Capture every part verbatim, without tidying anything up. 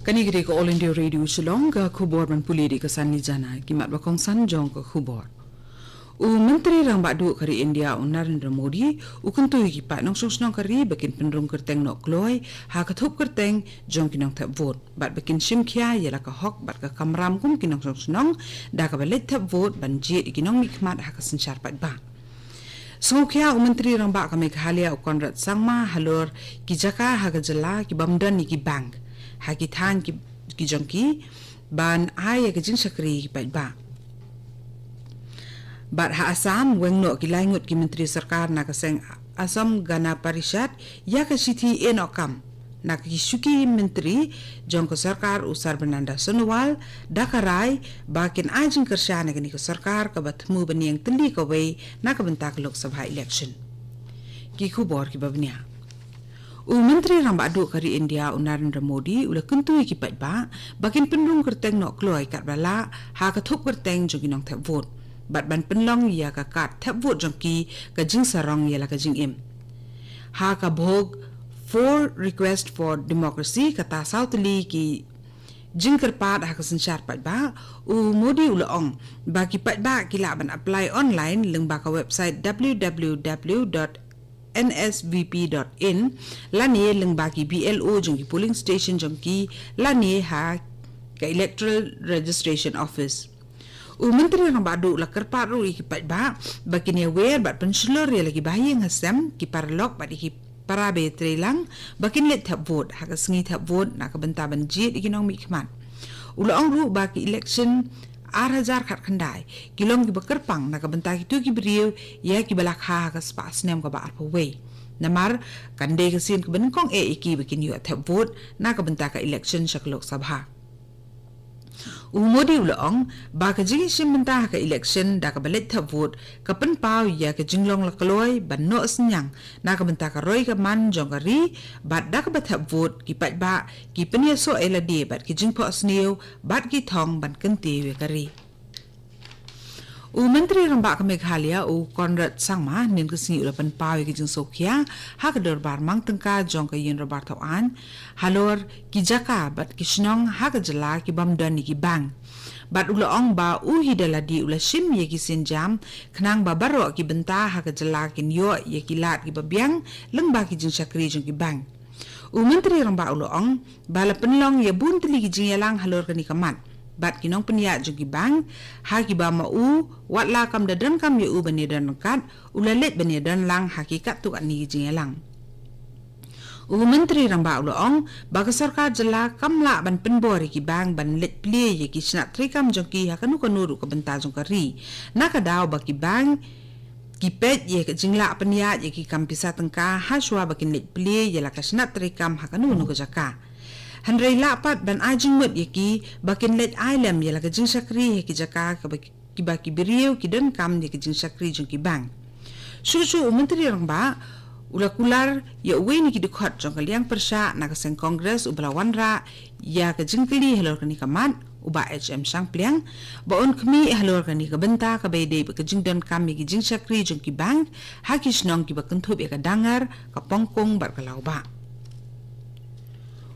Kane ka dei ka All India Radio Shillong, ka khubor ban pule da ka Sanli Jana, ki mat ba kongsan jong ka khubor. U Myntri Rangbah Duh ka ri India u Narendra Modi u kyntu ïa ki paid nongshong shnong ka ri ba kin pynrung kyrteng noh kloi ha ka thup kyrteng jong ki nongthep vote, bad ba kin shim khia ïa la ka hok bad ka kamram kum ki nongshong shnong da kaba leit thep vote ban jied ïa ki nongmihkhmat ha ka synshar paidbah. Sngewkhia u Myntri Rangbah ka Meghalaya u Conrad Sangma halor ki jaka ha ka jylla ki bym don ïa ki bank ha ki thaiñ ki, ki jong ki ban ai ïa ka jingshakri ïa ki paidbah. Bad ha Assam, weng noh ki lai ngut ki myntri sorkar na ka seng Assam Gana Parishad ïa ka shithi ïeh noh kam na ki shuki myntri jong ka sorkar u Sarbananda Sonowal da ka rai ba kin ai jingkyrshan ïa kane ka sorkar kaba thmu bniang tylli kawei na ka bynta ka Lok Sabha election. Ki khubor kiba bniah. U Myntri Rangbah Duh ka ri India u Narendra Modi u la kyntu ïa ki paidbah ba kin pynrung kyrteng noh kloi katba lah ha ka thup kyrteng jong ki nongthep vote, bad ban pynlong ïa ka kad thep vote jong ki ka jingsarong ïa la ka jingim. Ha ka bhog Four Request for Democracy, kata saw tylli ki jingkyrpad ha ka synshar paidbah, u Modi u la ong ba ki paidbah ki lah ban apply online lyngba ka website w w w dot n s v p dot in, lane lyngba ki B L O jong ki polling station jong ki, lane ha ka Electoral Registration Office. U Myntri Rangbah Duh u la kyrpad ruh ïa ki paidbah ba kin ïawer bad pynshlur ïa la ki bahaïing hasem, ki paralok bad ïa ki para ba ïatreilang ba kin leit thep vote ha ka sngi thep vote na ka bynta ban jied ïa ki nongmihkhmat. U la ong ruh ba ki election ar hajar khatkhyndai ki long kiba kyrpang na ka bynta kito ki briew ïa kiba la kha ha ka spah snem kaba arphew wei, namar kan dei ka sien kaba nyngkong eh ïa ki ba kin ïoh thep vote na ka bynta ka election sha ka Lok Sabha. U Modi u la ong ba ka jingïashim bynta ha ka election da kaba leit thep vote ka pynpaw ïa ka jinglong la kloi ban noh synñiang na ka bynta ka roi ka man jong ka ri, bad da kaba thep vote ki paidbah ki pynïasoh ïa lade bad ki jingphohsniew bad ki thong ban kyntiew ïa ka ri. U Myntri Rangbah ka Meghalaya u Conrad Sangma hynnin ka sngi u la pynpaw ïa ka jingsngewkhia ha ka dorbar mang tyngka jong ka Ïing Dorbar Thaw Aiñ halor ki jaka bad ki shnong ha ka jylla ki bym don ïa ki bank. Bad u la ong ba u hi da lade u la shim ïa ki sienjam khnang ba baroh ki bynta ha ka jylla kin ïoh ïa ki lad kiba biang lyngba ki jingshakri jong ki bank. U Myntri Rangbah u la ong ba la pynlong ïa bun tylli ki jingïalang halor kane ka mat bad ki nongpynïaid jong ki bank, ha kiba ma u, wat la kam da donkam ïa u ban ïadon ryngkat, u la leit ban ïadon lang ha ki katto katne ki jingïalang. U Myntri Rangbah u la ong ba ka sorkar jylla kam lah ban pynbor ïa ki bank ban leit plie ïa ki shnat treikam jong ki ha kano kano ruh ka bynta jong ka ri, na ka daw ba ki bank ki peit ïa ka jinglah pynïaid ïa ki kam pisa tyngka ha shuwa ba kin leit plie ïa la ka shnat treikam ha kano kano ka jaka. Hynrei lah pat ban ai jingmut ïa ki ba kin leit ai lem ïa la ka jingshakri ha ki jaka kaba ki, kiba ki briew ki donkam ïa ka jingshakri jong ki bank. Shuh shuh u Myntri Rangbah u la kular ïa uwei na ki dkhot jong ka liang pyrshah na ka seng Congress uba la wanrah ïa ka jingkylli halor kane ka mat, u Bah H M Shangpliang, ba un khmih halor kane ka bynta kaba ïadei bad ka jingdonkam ïa ki jingshakri jong ki bank ha ki shnong kiba kynthup ïa ka Dangar, ka Pongkung bad ka Lawbah.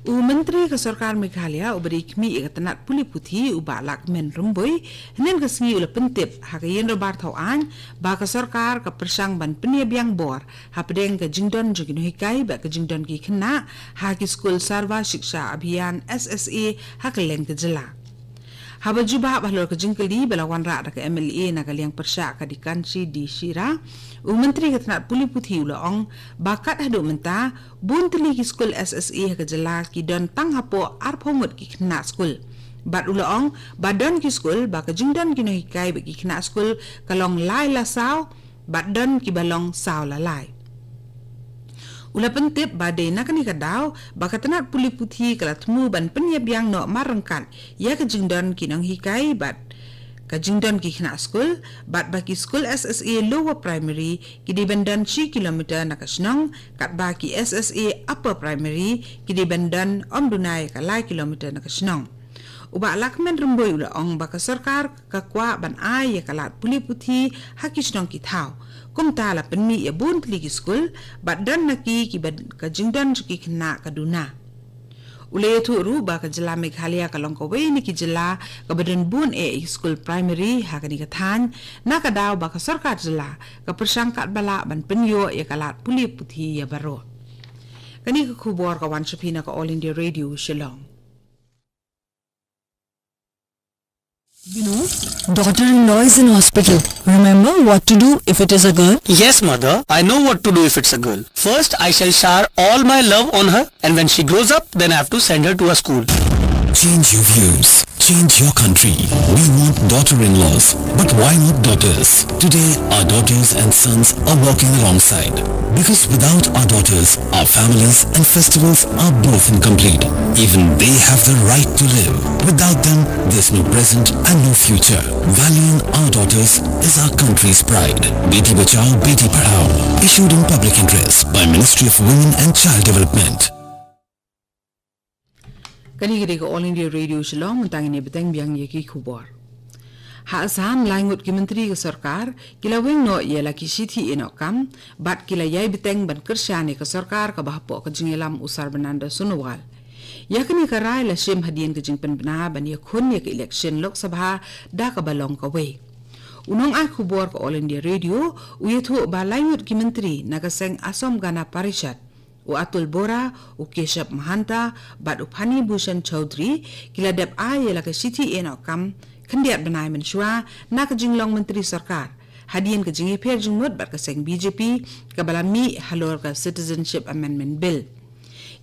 U Myntri ka Sorkar Meghalaya uba dei khmih ïa ka tnat pule puthi, u Bah Lahkmen Rymbui, hynnin ka sngi u la pyntip ha ka Ïing Dorbar Thaw Aiñ ba ka sorkar ka pyrshang ban pynïabiang bor hapdeng ka jingdon jong ki nonghikai bad ka jingdon ki khynnah ha ki skul Sarva Shiksha Abhiyan, S S A, ha kylleng ka jylla. Haba jubab halor ka jingkylli ba la wanrah da ka M L A na ka liang pyrshah ka Dikanshi D Shira, u Myntri ka tnat pule puthi u la ong ba kat haduh mynta bun tylli ki skul S S A ha ka jylla ki don tang hapoh arphew ngut ki khynnah skul. Bad u la ong ba don ki skul ba ka jingdon ki nonghikai bad ki khynnah skul ka long lai la saw, bad don kiba long saw la lai. U la pyntip ba dei na kane ka daw ba ka tnat pule puthi ka la thmu ban pynïabiang noh marryngkat ïa ka jingdon ki nonghikai bad ka jingdon ki khynnah skul, bad ba ki skul S S A Lower Primary ki dei ban don shi kilometer na ka shnong, katba ki S S A Upper Primary ki dei ban don ym duna ïa ka lai kilometer na ka shnong. U Bah Lahkmen Rymbui u la ong ba ka sorkar ka kwah ban ai ïa ka lad pule puthi ha ki shnong ki thaw. Kumta la pynmih ïa bun tylli ki skul bad don na ki kiba ka jingdon jong ki khynnah ka duna. U la ïathuh ruh ba ka jylla Meghalaya ka long kawei na ki jylla kaba don bun eh ïa ki skul primary ha kane ka thaiñ, na ka daw ba ka sorkar jylla ka pyrshang katba lah ban pynïoh ïa ka lad pule puthi ïa baroh. Kane ka khubor ka wan sha phi na ka All India Radio Shillong. Daughter-in-law is in hospital. Remember what to do if it is a girl? Yes, mother. I know what to do if it's a girl. First, I shall shower all my love on her, and when she grows up, then I have to send her to a school. Change your views. Change your country. We want daughter-in-laws. But why not daughters? Today, our daughters and sons are walking alongside. Because without our daughters, our families and festivals are both incomplete. Even they have the right to live. Without them, there's no present and no future. Valuing our daughters is our country's pride. Beti Bachao, Beti Padhao. Issued in public interest by Ministry of Women and Child Development. Kane ka dei ka All India Radio Shillong, mynta ngin ïa bteng biang ïa ki khubor. Ha Assam, lai ngut ki myntri ka sorkar ki la weng noh ïa la ki shithi ïehnoh kam bad ki la ïai bteng ban kyrshan ïa ka sorkar kaba hapoh ka jingïalam u Sarbananda Sonowal. Ïa kane ka rai la shim hadien ka jingpynbna ban ïakhun ïa ka election Lok Sabha da kaba long kawei. U nongai khubor ka All India Radio u ïathuh ba lai ngut ki myntri na ka seng Assam Gana Parishad, u Atul Bora, u Keshab Mahanta bad u Phani Bhushan Chaudhary ki la dep ai ïa la ka shithi ïehnoh kam khyndiat bnai mynshuwa na ka jinglong myntri sorkar, hadien ka jingïapher jingmut bad ka seng B J P kaba la mih halor ka Citizenship Amendment Bill.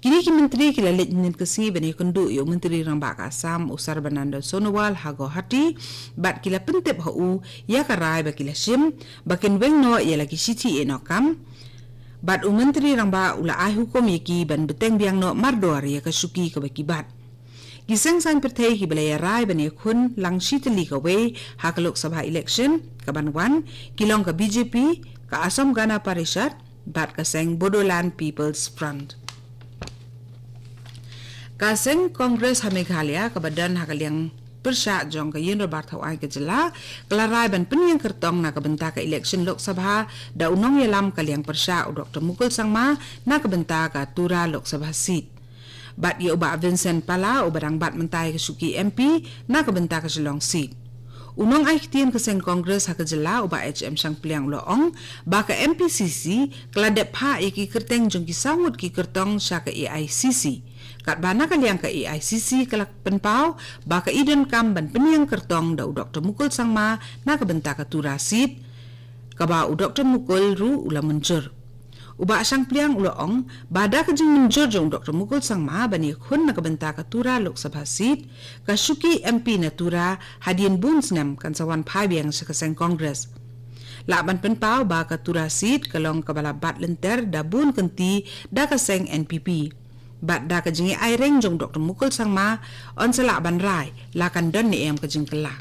Kine ki myntri ki la leit hynnin ka sngi ban ïakynduh ïa u Myntri Rangbah ka Assam u Sarbananda Sonowal ha Guwahati bad ki la pyntip ha u ïa ka rai ba ki la shim ba kin weng noh ïa la ki shithi ïehnoh kam. Bad u Myntri Rangbah u la ai hukum ïa ki ban bteng biang noh mardor ïa ka shuki kaba ki bat. Ki seng saiñ pyrthei kiba la ïarai ban ïakhun lang shi tylli kawei ha ka Lok Sabha election kaban wan ki long ka B J P, ka Assam Gana Parishad bad ka seng Bodoland People's Front. Ka seng Congress ha Meghalaya kaba don ha ka liang pyrshah jong ka Ïing Dorbar Thawaiñ ka jylla ka la rai ban pynïeng kyrtong na ka bynta ka election Lok Sabha da u nongïalam ka liang pyrshah u Doktor Mukul Sangma na ka bynta ka Tura Lok Sabha seat. Bad ïa u Bah Vincent Pala uba dang bat mynta ïa ka shuki M P na ka bynta ka Shillong seat. U nongai ktien ka seng Congress ha ka jylla u Bah H M Shangpliang u la ong ba ka M P C C ka la dep phah ïa ki kyrteng jong ki saw ngut ki kyrtong sha ka A I C C. Katba na ka liang ka A I C C ka la pynpaw ba ka i donkam ban pynïeng kyrtong da u Doktor Mukul Sangma na ka bynta ka Tura seat, kaba u Doktor Mukul ruh u la mynjur. U Bah Shangpliang u la ong ba da ka jingmynjur jong u Doktor Mukul Sangma ban ïakhun na ka bynta ka Tura Lok Sabha seat, ka shuki M P na Tura hadien bun snem kan sa wan phai biang sha ka seng Congress. Lah ban pynpaw ba ka Tura seat ka long kaba la bat lynter da bun kynti da ka seng N P P. Bad da ka jingïaireng jong u Doktor Mukul Sangma, yn sa lah ban rai la kan don ne em ka jingkylla.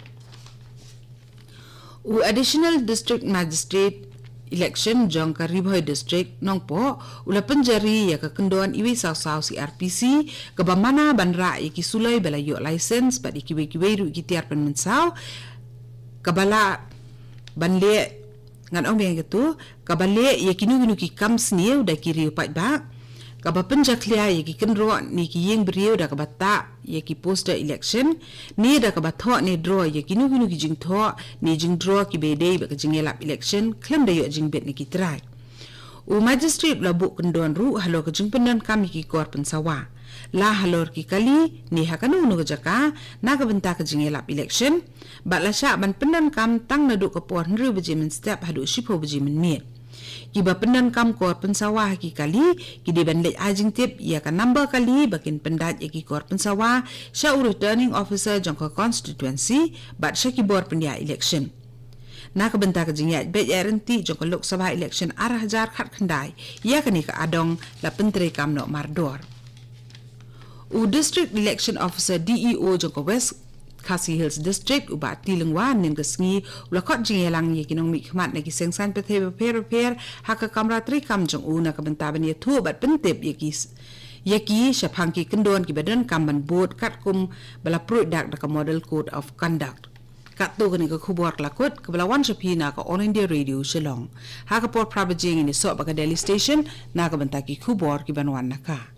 U Additional District Magistrate Election jong ka Ri Bhoi District Nongpoh u la pynjari ïa ka kyndon iwei saw saw C R P C kaba mana ban rah ïa ki suloi ba la ïoh license bad ïa kiwei kiwei ruh ki tiar pynmynsaw kaba lah ban leh, ngan ong biang ïa katu, kaba leh ïa kino kino ki kam sniew da ki riew paidbah, kaba pynjakhlia ïa ki kynroh ne ki ïing briew da kaba tah ïa ki poster election, ne da kaba thoh ne draw ïa kino kino ki jingthoh ne jingdraw kiba ïadei bad ka jingïalap election khlem da ïoh jingbit na ki trai. U Magistrate u la buh kyndon ruh halor ka jingpyndonkam ïa ki kor pynsawa, la halor ki kali ne ha kano kano ka jaka na ka bynta ka jingïalap election, bad la shah ban pyndonkam tang naduh ka por hynriew baje mynstep haduh shiphew baje mynmiet. Kiba pyndonkam kor pynsawa ha ki kali ki dei ban leit ai jingtip ïa ka number kali ba kin pyndait ïa ki kor pynsawa sha u Returning Officer jong ka constituency bad sha ki bor pynïaid election. Na ka bynta ka jingïaid beit ïaid ryntih jong ka Lok Sabha election ar hajar khatkhyndai, ïa kane ka adong la pyntreikam noh mardor. U District Election Officer, D E O, jong ka West Khasi Hills District, u Bah T. Lyngwa, hynnin ka sngi u la khot jingïalang ïa ki nongmihkhmat na ki seng saiñ pyrthei bapher bapher ha ka kamra treikam jong u na ka bynta ban ïathuh bad pyntip ïa ki s-, ïa ki shaphang ki kyndon kiba donkam ban bud katkum ba la pruid dak da ka Model Code of Conduct. Katto kane ka khubor ka la kut kaba la wan sha phi na ka All India Radio Shillong. Ha ka por phra baje ngin ïasoh bad ka Delhi Station na ka bynta ki khubor kiban wan na ka